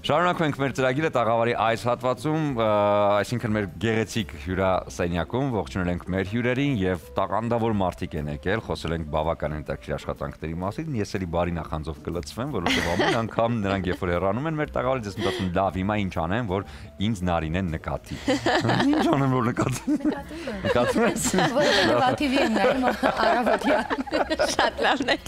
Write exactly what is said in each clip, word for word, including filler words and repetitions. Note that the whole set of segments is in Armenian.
Շարունակում ենք մեր ծրագիրը տաղավարի այս հատվածում, այսինքն մեր գեղեցիկ հյուրասենյակում ողջունել ենք մեր հյուրերին եւ տաղանդավոր մարդիկ են եկել, խոսել ենք բավական հետաքրքիր աշխատանքների մասին։ Ես էլի բարի նախանձով կլցվեմ, որովհետեւ ամեն անգամ նրանք երբ որ հեռանում են մեր տաղավարից, ես մտածում լավ, հիմա ինչ անեմ, որ ինձ Նարինեն նկատի։ Ինչ անեմ, որ նկատի։ Նկատում ես։ Որովհետեւ թի վի եմ նայում առավոտյան։ Շատ լավն է։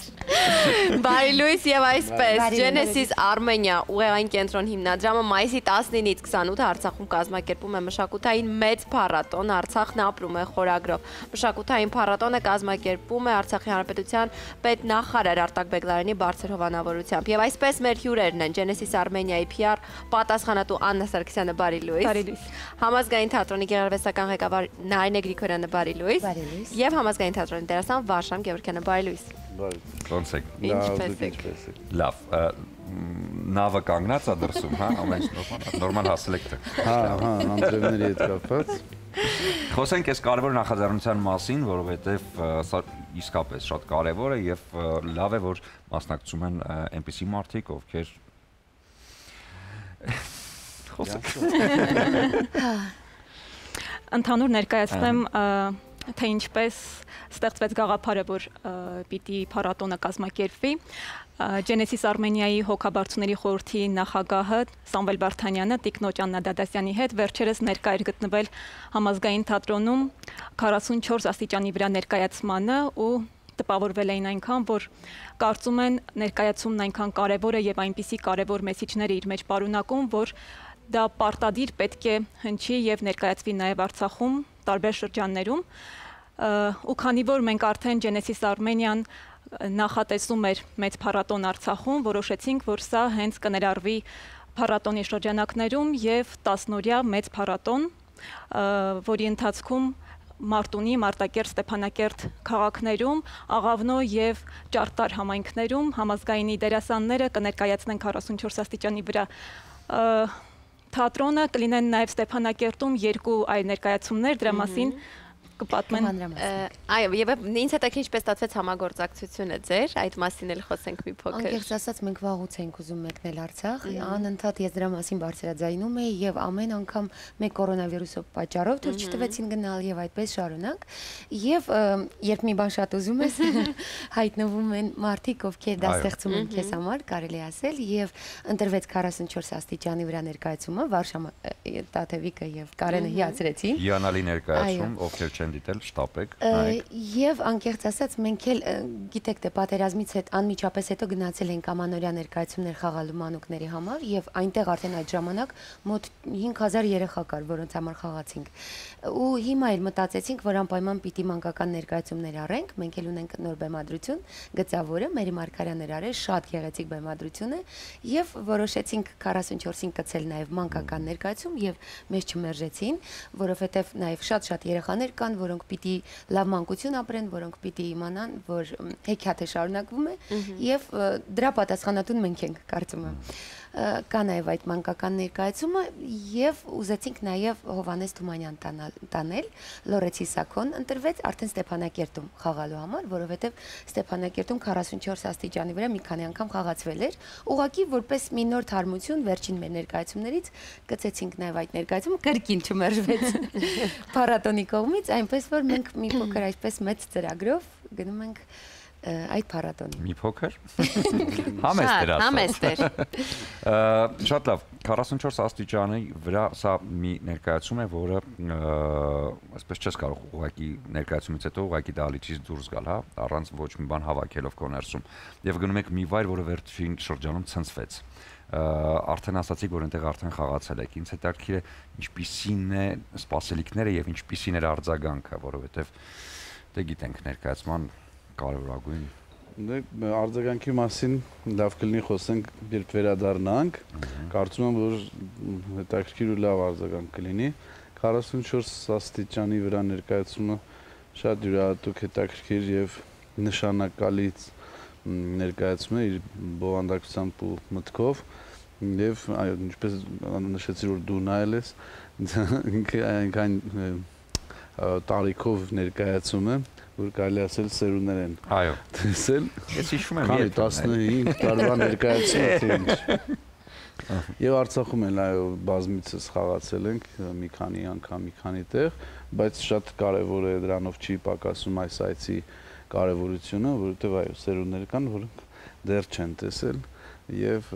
Բարի լույս եւ այսպես Genesis Armenia ուղեղային կենտրոն հիմնադրամը մայիսի տասնինից քսանութը Արցախում կազմակերպում է մշակութային մեծ փառատոն Արցախն ապրում է խորագրով։ Մշակութային փառատոնը կազմակերպում է Արցախի Հանրապետության պետնախարար Արտակ Բեգլարյանի բարձր հովանավորությամբ։ Եվ այսպես մեր հյուրերն են Genesis Armenia-ի Փի Ար պատասխանատու Աննա Սարգսյանը, բարի լույս։ Բարի լույս։ Համազգային թատրոնի գեղարվեստական ղեկավար Նարինե Գրիգորյանը, բարի լույս։ Բարի լույս։ Եվ համազգային թատրոնի դերասան Վարշամ Գևորգյանը, բարի լույս։ Ոնց եք։ Ինչպես եք։ Լավ, նավը կանգնած է դրսում, հա, ամեն ինչ նորմալ հասել եք թե։ Հա, հա, անձրևների հետ կապված։ Խոսենք այս կարևոր նախաձեռնության մասին, որովհետև սա իսկապես շատ կարևոր է եւ լավ է, որ մասնակցում են այնպիսի մարդիկ, ովքեր խոսենք։ Ընդհանուր ներկայացնեմ, թե ինչպես ստեղծվեց գաղափարը, որ պիտի փառատոնը կազմակերպվի։ Genesis Armenia-ի հոգաբարձուների խորհրդի նախագահը Սամվել Վարդանյանը տիկնոջ Աննա Դադասյանի հետ վերջերս ներկա էր գտնվել համազգային թատրոնում քառասունչորս աստիճանի վրա ներկայացմանը ու տպավորվել էին այնքան, որ կարծում են ներկայացումն այնքան կարևոր է եւ այնպիսի կարևոր մեսիջներ իր մեջ պարունակում, որ դա պարտադիր պետք է հնչի եւ ներկայացվի նաեւ Արցախում տարբեր շրջաններում։ Ու քանի որ մենք արդեն Genesis Armenia-ն նախատեսում էր մեծ փառատոն Արցախում, որոշեցինք, որ սա հենց կներառվի փառատոնի շրջանակներում եւ տասնօրյա մեծ փառատոն, որի ընթացքում Մարտունի, Մարտակերտ, Ստեփանակերտ քաղաքներում, Աղավնո եւ Ճարտար համայնքներում համազգայինի դերասանները կներկայացնեն քառասունչորս աստիճանի վրա թատրոնը, կլինեն նաեւ Ստեփանակերտում երկու այլ ներկայացումներ, դրա մասին կպատմեն։ Այո, եւ ինձ հետ ինչպես ստացվեց համագործակցությունը ձեր, այդ մասին էլ խոսենք մի փոքր։ Անկեղծ ասած, մենք վաղուց ենք ուզում մեկնել Արցախ, անընդհատ ես դրա մասին բարձրաձայնում էի եւ ամեն անգամ մեկ կորոնավիրուսով պատճառով դուր չտվեցին գնալ եւ այդպես շարունակ։ Եվ երբ մի բան շատ ուզում ես, հայտնվում են մարդիկ, ովքեր դա ստեղծում են քեզ համար, կարելի ասել, եւ ընտրվեց քառասունչորս աստիճանի վրա ներկայացումը, Վարշամը, Տաթևիկը եւ Կարենը հիացրեցին։ Հիանալի ներկայացում, ովքեր չեն դիտել, շտապեք։ Եվ անկեղծ ասած, մենք էլ գիտեք, թե պատերազմից հետ անմիջապես հետո գնացել ենք ամանորյա ներկայացումներ խաղալու մանուկների համար եւ այնտեղ արդեն այդ ժամանակ մոտ հինգ հազար երեխա կար, որոնց համար խաղացինք։ Ու հիմա էլ մտածեցինք, որ անպայման պիտի մանկական ներկայացումներ առենք, մենք էլ ունենք նոր բեմադրություն, Գծավորը, Մերի Մարգարյանն արել, շատ գեղեցիկ բեմադրություն է, եւ որոշեցինք քառասունչորսին կցել նաեւ մանկական ներկայացում եւ մեզ չմերժեցին, որովհետեւ նաեւ շատ-շատ երեխաներ կան, որոնք պիտի լավ մանկություն ապրեն, որոնք պիտի իմանան, որ հեքիաթը շարունակվում է եւ դրա պատասխանատուն մենք ենք, կարծում եմ։ Կա նաև այդ մանկական ներկայացումը եւ ուզեցինք նաև Հովանես Թումանյան տանել, Լորեցի Սաքոն ընտրվեց արդեն Ստեփանակերտում խաղալու համար, որովհետեւ Ստեփանակերտում քառասունչորս աստիճանի վրա մի քանի անգամ խաղացվել էր, ուղղակի որպես մի նոր թարմություն վերջին մեր ներկայացումներից գցեցինք նաև այդ ներկայացումը, կրկին չմերժվեց փառատոնի կողմից, այնպես որ մենք մի փոքր այսպես մեծ ծրագրով գնում ենք այդ փառատոնին։ Մի փոքր։ Համեստ էր ասած։ Համեստ էր։ Շատ լավ, քառասունչորս աստիճանի վրա սա մի ներկայացում է, որը այսպես չես կարող ուղղակի ներկայացումից հետո ուղղակի դահլիճից դուրս գալ, հա, առանց ոչ մի բան հավաքելով քո ներսում։ Եվ գնում եք մի վայր, որը վերջին շրջանում ցնցվեց։ Արդեն ասացիք, որ այնտեղ արդեն խաղացել եք։ Ինձ հետաքրքիր է ինչպիսին է սպասելիքները եւ ինչպիսին էր արձագանքը, որովհետեւ դե գիտենք ներկայացման կարևորագույն։ Դե արձագանքի մասին լավ կլինի խոսենք, երբ վերադառնանք, կարծում եմ, որ հետաքրքիր ու լավ արձագանք կլինի։ քառասունչորս աստիճանի վրա ներկայացումը շատ յուրահատուկ, հետաքրքիր եւ նշանակալից ներկայացում է իր բովանդակությամբ ու մտքով եւ ինչպես նշեցի, որ դու նայել ես, այնքան տարիքով ներկայացում է, որ կարելի ասել սերունդներ են տեսել։ Ես հիշում եմ տասնհինգ տարվա ներկայացումը թե ինչ։ Եվ Արցախում էլ այո բազմիցս խաղացել ենք մի քանի անգամ, մի քանի տեղ, բայց շատ կարևոր է դրանով չի պակասում այս այցի կարևորությունը, որովհետև այո սերունդներ կան, որոնք դեռ չեն տեսել եւ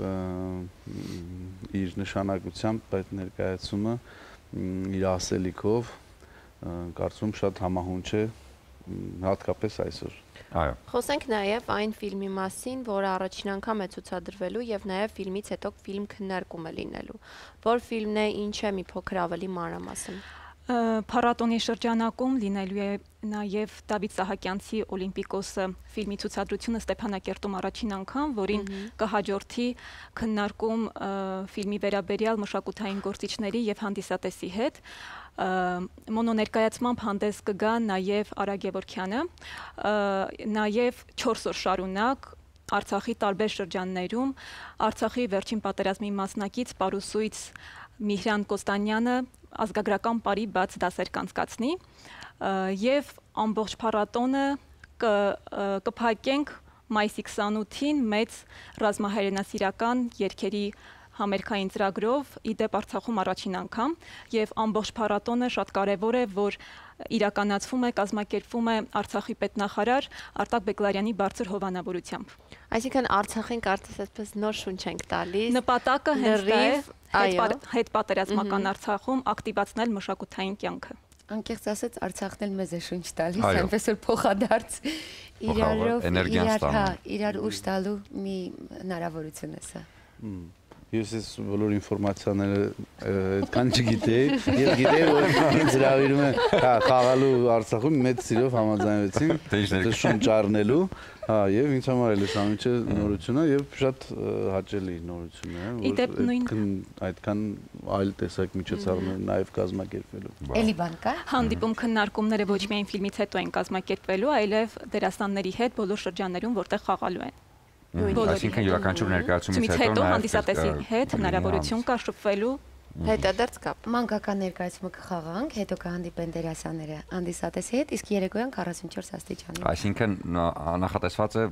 իր նշանակությամբ այդ ներկայացումը իր ասելիքով կարծում շատ համահունչ է հատկապես այսօր։ Այո։ Խոսենք նաև այն ֆիլմի մասին, որը առաջին անգամ է ցուցադրվելու եւ նաև ֆիլմից հետո ֆիլմ քննարկում է լինելու։ Որ ֆիլմն է, ինչ է, մի փոքր ավելի մանրամասն։ Փառատոնի շրջանակում լինելու է նաև Դավիթ Սահակյանցի Օլիմպիկոսը ֆիլմի ցուցադրությունը Ստեփանակերտում առաջին անգամ, որին կհաջորդի քննարկում ֆիլմի վերաբերյալ մշակութային գործիչների եւ հանդիսատեսի հետ։ Մոնոներկայացմամբ հանդես կգա նաև Արագ Գևորգյանը, նաև չորս օր շարունակ Արցախի տարբեր շրջաններում Արցախի վերջին պատերազմի մասնակից Պարուսույց Միհրան Կոստանյանը ազգագրական պարի բաց դասեր կանցկացնի եւ ամբողջ փառատոնը կփակենք մայիսի քսանութին մեծ ռազմահայրենասիրական երգերի համերգային ծրագրով իդեպ Արցախում առաջին անգամ եւ ամբողջ փառատոնը շատ կարեւոր է, որ իրականացվում է, կազմակերպվում է Արցախի պետնախարար Արտակ Բեկլարյանի բարձր հովանավորությամբ։ Այսինքն Արցախին կարծես այսպես նոր շունչ ենք տալիս։ Նպատակը հենց դա է հետ պատերազմական Արցախում ակտիվացնել մշակութային կյանքը։ Անկեղծ ասած Արցախն էլ մեզ է շունչ տալիս, այնպես որ փոխադարձ իրարով իրար, հա, իրար ուժ տալու մի հնարավորություն է սա։ Ես ես բոլոր ինֆորմացիաները այդքան չգիտեի, ես գիտեի, որ ինձ հրավիրում է խաղալու Արցախում մեծ սիրով համաձայնվեցինք, դա շունչ առնելու, հա, եւ ինձ համար էլ է սա միջը նորությունը եւ շատ հաճելի նորություն է, որ այդքան այլ տեսակ միջոցառումներ նաեւ կազմակերպվելու։ Էլի բան կա։ Հանդիպում քննարկումները ոչ միայն ֆիլմից հետո են կազմակերպվելու, այլև դերասանների հետ բոլոր շրջաններում, որտեղ խաղալու են։ Այսինքն յուրաքանչյուր ներկայացումից հետո հանդիսատեսի հետ հնարավորություն կա շփվելու հետադարձ կապ։ Մանկական ներկայացումը կխաղանք, հետո կհանդիպեն դերասանները հանդիսատեսի հետ, իսկ երեկոյան քառասունչորս աստիճանի։ Այսինքն նախատեսված է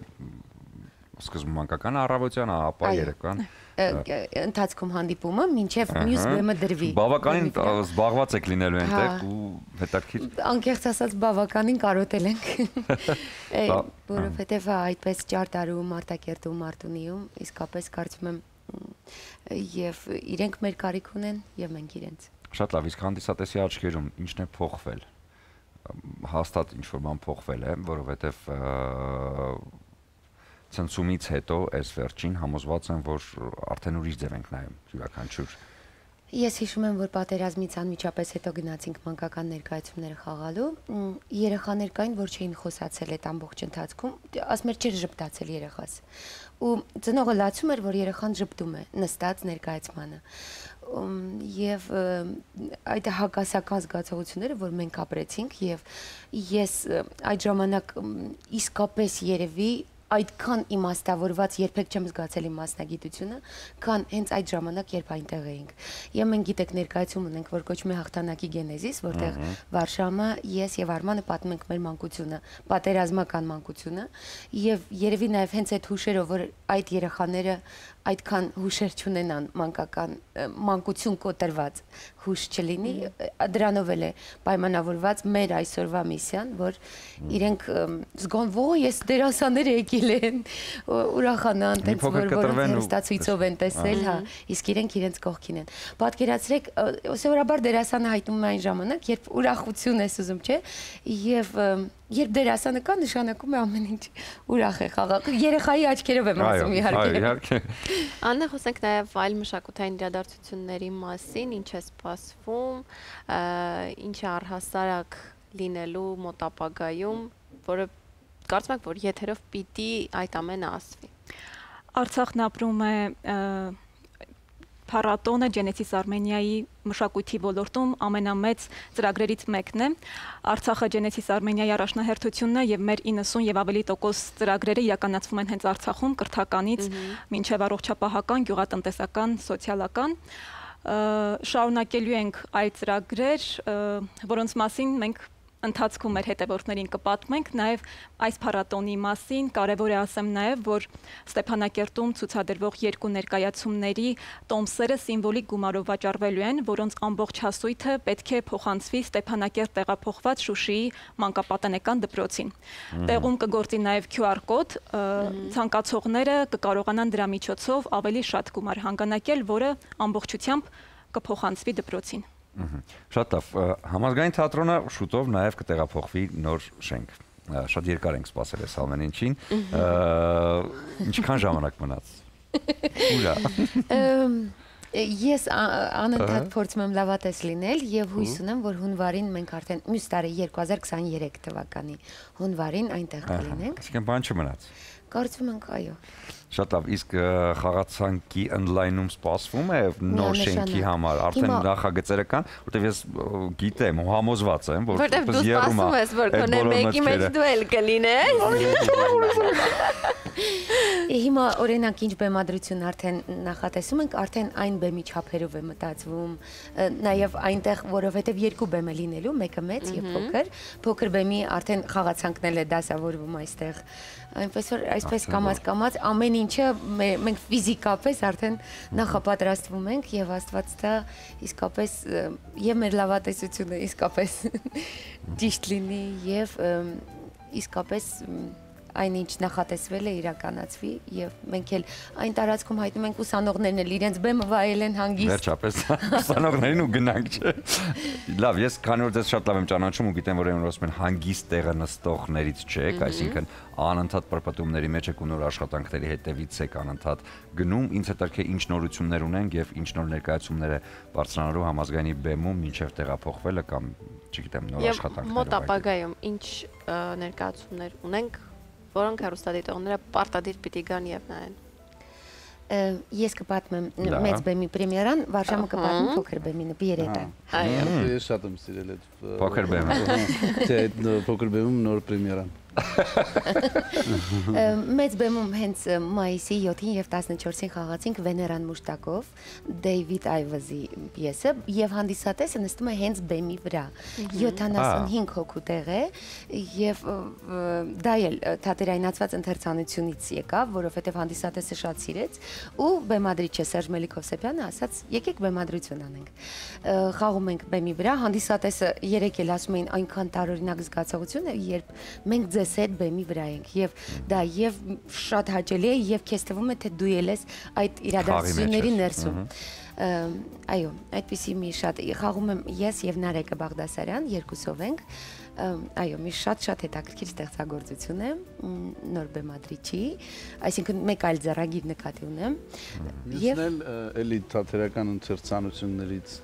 սկզբում մանկական առավոտյան, ապա երեկոյան ընթացքում հանդիպումը մինչև մյուս բեմը դրվի։ Բավականին զբաղված եք լինելու այնտեղ ու հետաքրքիր։ Անկեղծ ասած բավականին կարոտել ենք, որովհետև այդպես Ճարտարում, Մարտակերտում, Մարտունիում իսկապես կարծում եմ եւ իրենք մեր կարիք ունեն եւ մենք իրենց։ Շատ լավ, իսկ հանդիսատեսի աչքերում ինչն է փոխվել։ Հաստատ ինչ որ բան փոխվել է, որովհետեւ ցնցումից հետո այս վերջին համոզված եմ, որ արդեն ուրիշ ձև ենք նայում յուրաքանչյուր։ Ես հիշում եմ, որ պատերազմից անմիջապես հետո գնացինք մանկական ներկայացումները խաղալու, երեխաներ կային, որ չէին խոսացել այդ ամբողջ ընթացքում, ասում էր չէր ժպտացել երեխաս։ Ու ծնողը լացում էր, որ երեխան ժպտում է նստած ներկայացմանը։ Եվ այդ հակասական զգացողությունները, որ մենք ապրեցինք, եւ ես այդ ժամանակ իսկապես երևի այդքան իմաստավորված երբեք չեմ զգացել իմ մասնագիտությունը, քան հենց այդ ժամանակ, երբ այնտեղ էինք։ Եվ մենք գիտեք ներկայացում ունենք, որ կոչվում է հաղթանակի գենեզիս, որտեղ Վարշամը, ես եւ Արմանը պատմում ենք մեր մանկությունը, պատերազմական մանկությունը, եւ երևի նաեւ հենց այդ հուշերով, որ այդ երեխաները այդքան հուշեր չունենան մանկական մանկություն կոտրված հուշ չլինի, դրանով էլ է պայմանավորված մեր այսօրվա միսիան, որ իրենք զգան, «Ո, ես դերասաններ եկել են», ուրախանան, տենց որ որոնց հեռուստացույցով են տեսել, հա, իսկ իրենք իրենց կողքին են։ Պատկերացրեք, սովորաբար դերասանը հայտնում է այն ժամանակ, երբ ուրախություն ես ուզում, չէ՞, եւ երբ դերասանը կա, նշանակում է ամեն ինչ ուրախ է խաղալ։ Երեխայի աչքերով եմ ասում, իհարկե։ Աննա, խոսենք նաև այլ մշակութային իրադարձությունների մասին, ինչ է սպասվում, ինչ է առհասարակ լինելու մոտ ապագայում, որը կարծում եք, որ եթերով պիտի այդ ամենը ասվի։ Արցախն ապրում է փառատոնը Genesis Armenia-ի մշակույթի ոլորտում ամենամեծ ծրագրերից մեկն է։ Արցախը Genesis Armenia-ի առաջնահերթությունն է եւ մեր իննսուն եւ ավելի տոկոս ծրագրերը իրականացվում են հենց Արցախում, կրթականից մինչեւ առողջապահական, գյուղատնտեսական, սոցիալական։ Շարունակելու ենք այլ ծրագրեր, որոնց մասին մենք ընթացքում մեր հետևորդներին կպատմենք նաև այս փառատոնի մասին։ Կարևոր է ասեմ նաև, որ Ստեփանակերտում ցուցադրվող երկու ներկայացումների տոմսերը սիմվոլիկ գումարով վաճառվելու են, որոնց ամբողջ հասույթը պետք է փոխանցվի Ստեփանակերտ տեղափոխված Շուշիի մանկապատանեկան դպրոցին։ Տեղում կգործի նաև Q R կոդ, ցանկացողները կկարողանան դրա միջոցով ավելի շատ գումար հանգանակել, որը ամբողջությամբ կփոխանցվի դպրոցին։ Շատ լավ, համազգային թատրոնը շուտով նաև կտեղափոխվի նոր շենք։ Շատ երկար ենք սպասել այս ամեն ինչին։ Ինչքան ժամանակ մնաց։ Ուրա։ Ես անընդհատ փորձում եմ լավատես լինել եւ հույս ունեմ, որ հունվարին մենք արդեն մյուս տարի երկու հազար քսաներեք թվականի հունվարին այնտեղ կլինենք։ Այսինքն բան չմնաց։ Կարծում ենք, այո։ Շատ լավ, իսկ խաղացանկի ընդլայնում սպասվում է նոր շենքի համար, արդեն նախագծերը կան, որտեղ ես գիտեմ, համոզված եմ, որ որտեղ դու սպասում ես, որ քոնե մեկի մեջ դու էլ կլինես։ Հիմա օրինակ ինչ բեմադրություն արդեն նախատեսում ենք, արդեն այն բեմի չափերով է մտածվում, նաև այնտեղ, որովհետև երկու բեմ է լինելու, մեկը մեծ եւ փոքր, փոքր բեմի արդեն խաղացանքն էլ է դասավորվում այստեղ։ Այնպես որ այսպես կամած-կամած ամեն ինչը մենք ֆիզիկապես արդեն նախապատրաստվում ենք եւ Աստված դա իսկապես եւ մեր լավատեսությունը իսկապես ճիշտ լինի եւ իսկապես այնինչ նախատեսվել է իրականացվի եւ մենք էլ այն տարածքում հայտնում ենք ուսանողներն էլ իրենց բեմը վայել են հանգիստ։ Վերջապես ուսանողներին ու գնանք չէ։ Լավ, ես քանի որ դες շատ լավ եմ ճանաչում ու գիտեմ որ այն ասում են հանգիստ տեղը նստողներից չեք, այսինքն անընդհատ պրպտումների մեջ եք ու նոր աշխատանքների հետևից եք անընդհատ գնում, ինձ հետաքրքիր ինչ նորություններ ունենք եւ ինչ նոր ներկայացումներ է բարձրանալու համազգայինի բեմում մինչեւ տեղափոխվելը կամ չգիտեմ նոր աշխատանքներ։ Մոտ ապագայում ինչ ներկայացումներ ունենք, որոնք հեռուստադիտողները պարտադիր պիտի գան եւ նայեն։ Ես կպատմեմ մեծ բեմի պրեմիերան, Վարշամը կպատմի փոքր բեմի նպիրետը։ Այո։ Ես շատ եմ սիրել այդ փոքր բեմը։ Չէ, այդ փոքր բեմում նոր պրեմիերան։ Մեծ բեմում հենց մայիսի յոթին եւ տասնչորսին խաղացինք Վեներան Մուշտակով, Դեյվիդ Այվազի պիեսը եւ հանդիսատեսը նստում է հենց բեմի վրա։ յոթանասունհինգ հոգու տեղ է եւ դա էլ թատերայնացված ընթերցանությունից եկավ, որովհետեւ հանդիսատեսը շատ սիրեց ու բեմադրիչը Սերժ Մելիքովսեփյանը ասաց՝ եկեք բեմադրություն անենք։ Խաղում ենք բեմի վրա, հանդիսատեսը երեք էլ ասում էին այնքան տարօրինակ զգացողություն է, երբ մենք ձեզ հետ բեմի վրա ենք եւ դա եւ շատ հաճելի է եւ քեզ թվում է թե դու ել ես այդ իրադարձությունների ներսում։ Այո, այդպիսի մի շատ խաղում եմ ես եւ Նարեկը Բաղդասարյան, երկուսով ենք։ Այո, մի շատ-շատ հետաքրքիր ստեղծագործություն է նոր բեմադրիչի, այսինքն մեկ այլ ձեռագիր նկատի ունեմ։ Ես էլ էլի թատերական ընթերցանություններից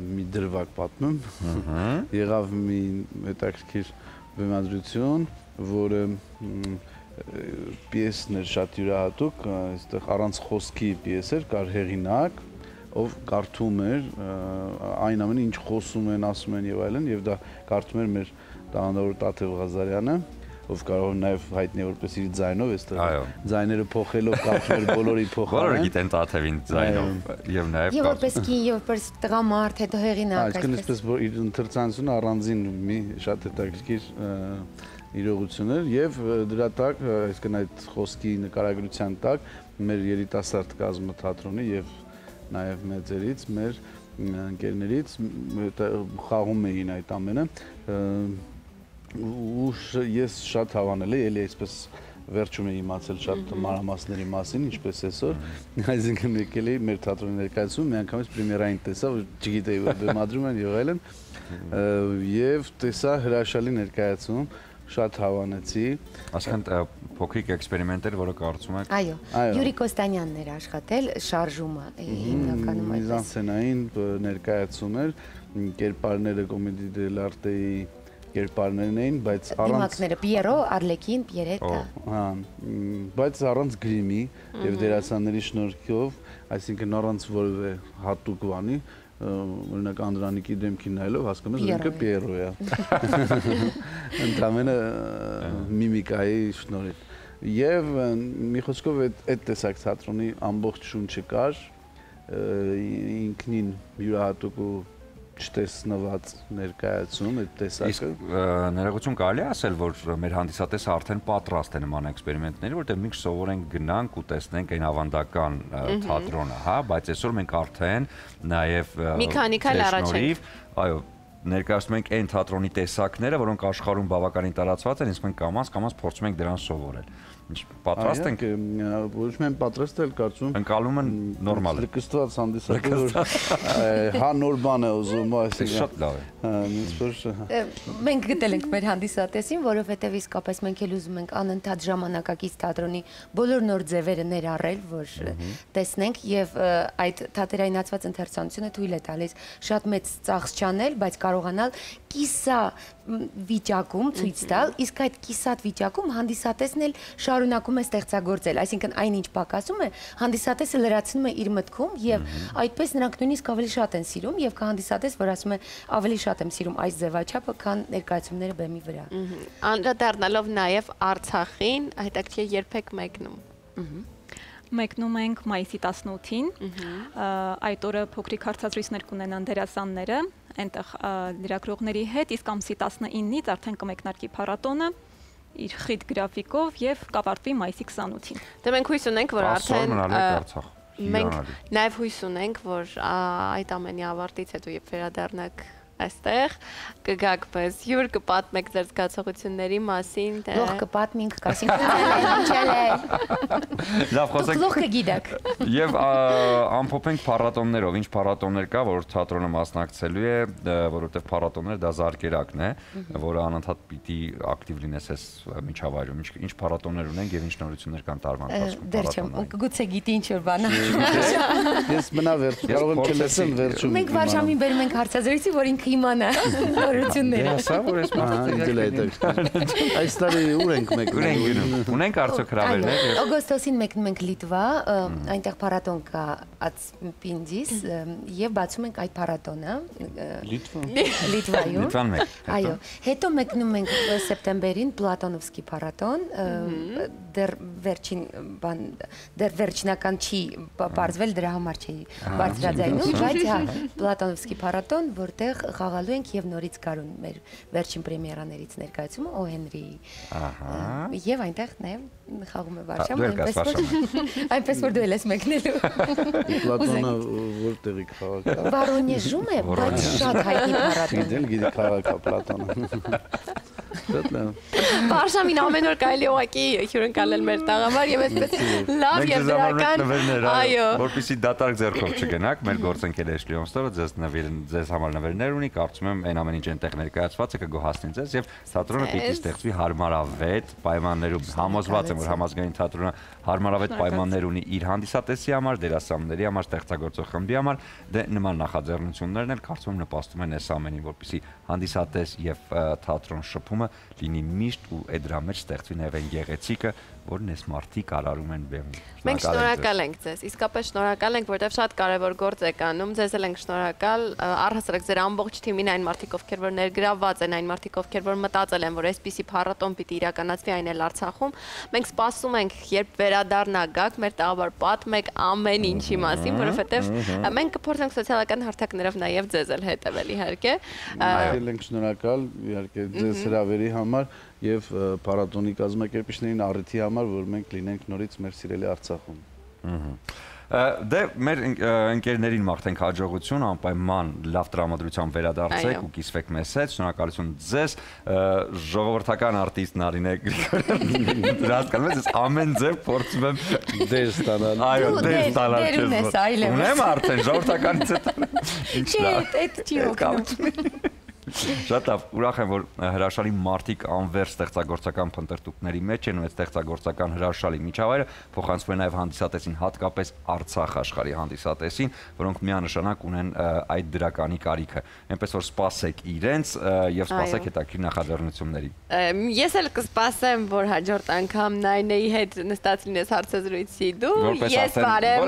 մի դրվագ պատմում։ Եղավ մի հետաքրքիր բեմադրություն, որը պիեսն էր շատ յուրահատուկ, այստեղ առանց խոսքի պիես էր, կար հեղինակ, ով կարդում էր այն ամենը, ինչ խոսում են, ասում են եւ այլն, եւ դա կարդում էր մեր տաղանդավոր Տաթև Ղազարյանը, ով կարող է նաեւ հայտնի որպես իր ձայնով այստեղ ձայները փոխելով կարդում էր բոլորի փոխարեն։ Բոլորը գիտեն Տաթևին ձայնով եւ նաեւ եւ որպես կին եւ որպես տղամարդ, հետո հեղինակ։ Այսինքն այսպես որ իր ընթերցանությունը առանձին մի շատ հետաքրքիր իրողություն էր եւ դրա տակ, այսինքն այդ խոսքի նկարագրության տակ մեր երիտասարդ կազմը թատրոնի եւ նաեւ մեծերից, մեր ընկերներից խաղում էին այդ ամենը ու ես շատ հավանել եմ, էլի այսպես վերջում եմ իմացել շատ մանրամասների մասին, ինչպես այսօր, այսինքն եկել էի մեր թատրոնի ներկայացում, մի անգամից պրեմիերային տեսա, որ չգիտեի որ բեմադրում են եւ այլն, եւ տեսա հրաշալի ներկայացում, շատ հավանեցի։ Այսինքն փոքրիկ էքսպերիմենտեր, որը կարծում եք։ Այո, Յուրի Կոստանյանն էր աշխատել, շարժումը հիմնականում այդպես։ Միզանսցենային ներկայացում էր, կերպարները կոմեդի դելարտեի կերպարներն էին, բայց առանց դիմակները Պիերո, Արլեկին, Պիերետա։ Հա, բայց առանց գրիմի եւ դերասանների շնորհքով, այսինքն առանց որևէ հատուկ բանի, օրինակ Անդրանիկի դեմքին նայելով հասկանում ես ինքը Պիերո է։ Ընդամենը միմիկայի շնորհիվ։ Եվ մի խոսքով այդ տեսակ թատրոնի ամբողջ շունչը կար, ինքնին յուրահատուկ ու չտեսնված ներկայացում այդ տեսակը։ Իսկ ներողություն կարելի է ասել, որ մեր հանդիսատեսը արդեն պատրաստ է նման էքսպերիմենտների, որտեղ մենք սովորենք գնանք ու տեսնենք այն ավանդական թատրոնը, հա, բայց այսօր մենք արդեն նաև մի քանի քայլ առաջ ենք։ Այո, ներկայացնում ենք այն թատրոնի տեսակները, որոնք աշխարհում բավականին տարածված են, իսկ մենք կամաց-կամաց փորձում ենք դրանց սովորել։ Ինչ պատրաստ ենք։ Ոչ միայն պատրաստ էլ կարծում ընկալում են նորմալ է։ Լկստված հանդիսատեսը հա նոր բան է ուզում, այսինքն շատ լավ է։ Մենք գտել ենք մեր հանդիսատեսին, որովհետև իսկապես մենք էլ ուզում ենք անընդհատ ժամանակակից թատրոնի բոլոր նոր ձևերը ներառել, որ տեսնենք, եւ այդ թատերայնացված ընթերցանությունը թույլ է տալիս շատ մեծ ծախս չանել, բայց կարողանալ կիսա վիճակում ցույց տալ, իսկ այդ կիսատ վիճակում հանդիսատեսն էլ շարունակում է ստեղծագործել, այսինքն այնինչ պակասում է, հանդիսատեսը լրացնում է իր մտքում եւ այդպես նրանք նույնիսկ ավելի շատ են սիրում եւ կա հանդիսատես, որ ասում է ավելի շատ եմ սիրում այս ձևաչափը, քան ներկայացումները բեմի վրա։ Անդրադառնալով նաեւ Արցախին, հետաքրքիր երբեք մեկնում։ Մեկնում ենք մայիսի տասնութին, այդ օրը փոքրիկ հարցազրույցներ կունենան դերասանները, այնտեղ լրագրողների հետ, իսկ ամսի տասնինից արդեն կմեկնարկի փառատոնը իր խիտ գրաֆիկով եւ կավարտվի մայիսի քսանութին։ Դե մենք հույս ունենք, որ արդեն մենք նաեւ հույս ունենք, որ այդ ամենի ավարտից հետո երբ վերադառնաք այստեղ կգաք պես հյուր կպատմեք ձեր զգացողությունների մասին, թե Լող կպատմենք, կասենք ինչել է։ Լավ խոսենք։ Լող կգիտեք։ Եվ ամփոփենք փառատոններով, ինչ փառատոններ կա, որ թատրոնը մասնակցելու է, որովհետև փառատոնները դա զարկերակն է, որը անընդհատ պիտի ակտիվ լինես այս միջավայրում։ Ինչ փառատոններ ունենք եւ ինչ նորություններ կան տարվա ընթացքում։ Դեռ չեմ, գուցե գիտի ինչ որ բան։ Ես մնա վերջ, կարող եմ չլսեմ վերջում։ Մենք վարժամին բերում ենք հարցազրույցի, որ ինքը իմանա նորությունները։ Հեսա որ ես մտածել այս տարի ուր ենք մեկնում։ Ունենք արդյոք հրավերներ։ Օգոստոսին մեկնում ենք Լիտվա, այնտեղ փառատոն կա Ածպինդիս եւ բացում ենք այդ փառատոնը։ Լիտվա։ Լիտվայում։ Լիտվան մեկ։ Այո, հետո մեկնում ենք սեպտեմբերին Պլատոնովսկի փառատոն, դեռ վերջին բան, դեռ վերջնական չի բարձվել, դրա համար չի բարձրաձայնում, բայց հա Պլատոնովսկի փառատոն, որտեղ խաղալու ենք եւ նորից գարուն մեր վերջին պրեմիերաներից ներկայացումը Օ Հենրիի։ Ահա։ Եվ այնտեղ նաեւ խաղում է Վարշավա, այնպես որ այնպես որ դու ես մեկնելու։ Պլատոնը որտեղի քաղաք է։ Վարոնեժում է, բայց շատ հայտնի փառատոն։ Գիտեմ, գիտի քաղաք է Պլատոնը։ Վարշավին ամեն օր կարելի ուղղակի հյուրընկալել մեր տաղավար եւ այսպես լավ եւ դրական, այո, որպեսզի դատարկ ձեռքով չգնաք, մեր գործընկեր Էշլի Օնստովը ձեզ ձեզ համար նվերներ ունի, կարծում եմ այն ամեն ինչ այնտեղ ներկայացված է կգոհացնի ձեզ եւ թատրոնը պիտի ստեղծվի հարմարավետ պայմաններում։ Համոզված եմ, որ համազգային թատրոնը հարմարավետ պայմաններ ունի իր հանդիսատեսի համար, դերասանների համար, ստեղծագործող խմբի համար, դե նման նախաձեռնություններն էլ կարծում եմ նպաստում են այս ամենին, որպեսզի հանդիսատես եւ թատրոն շփումը լինի միշտ ու այդ դրա մեջ ստեղծվի նաև այն գեղեցիկը, որն էս մարդիկ արարում են բեմում։ Մենք շնորհակալ ենք ձեզ, իսկապես շնորհակալ ենք, որովհետև շատ կարևոր գործ եք անում, ձեզ էլ ենք շնորհակալ, առհասարակ ձեր ամբողջ թիմին, այն մարդիկ, ովքեր որ ներգրավված են, այն մարդիկ, ովքեր որ մտածել են, որ այսպիսի փառատոն պիտի իրականացվի, այն էլ Արցախում։ Մենք սպասում ենք, երբ վերադառնա գաք, մեր տաղավար պատմեք ամեն ինչի մասին, որովհետև մենք կփորձենք սոցիալական հարթակներով նաև ձեզ էլ հետևել, իհարկե։ Մենք ենք շնորհակալ, իհարկե ձեզ հրավերի համար եւ փառատոնի կազմակերպիչներին առիթի համար, որ մենք լինենք նորից մեր սիրելի Արցախում։ Դե մեր ընկերներին մաղթենք հաջողություն, անպայման լավ տրամադրությամբ վերադարձեք ու կիսվեք մեզ հետ, շնորհակալություն ձեզ, ժողովրդական արտիստ Նարինե Գրիգորյան, դրա հասկանում ես, ամեն ձև փորձում եմ դեր ստանալ։ Այո, դեր ստանալ քեզ։ Ունեմ արդեն ժողովրդականից հետո։ Չէ, այդ չի օգնում։ Շատ լավ, ուրախ եմ, որ հրաշալի մարդիկ անվերջ ստեղծագործական փնտրտուքների մեջ են ու այդ ստեղծագործական հրաշալի միջավայրը փոխանցվում է նաև հանդիսատեսին, հատկապես Արցախ աշխարհի հանդիսատեսին, որոնք միանշանակ ունեն այդ դրականի կարիքը։ Այնպես որ սպասեք իրենց եւ սպասեք հետաքրքիր նախաձեռնությունների։ Ես էլ կսպասեմ, որ հաջորդ անգամ Նայնեի հետ նստած լինես հարցազրույցի դու։ Ես բարեմ,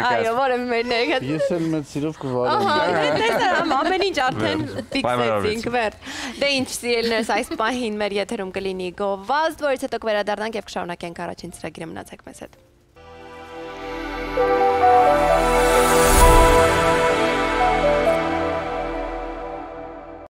այո, որևէ մեր ներկայացում։ Ես էլ մեծ սիրով կվարեմ։ Ահա, տեսա, ամեն ինչ արդեն ֆիքսեցինք վեր։ Դե ինչ սիրելիներս, այս պահին մեր եթերում կլինի գովազդ, որից հետո կվերադառնանք եւ կշարունակենք առաջին ծրագիրը, մնացեք մեզ հետ։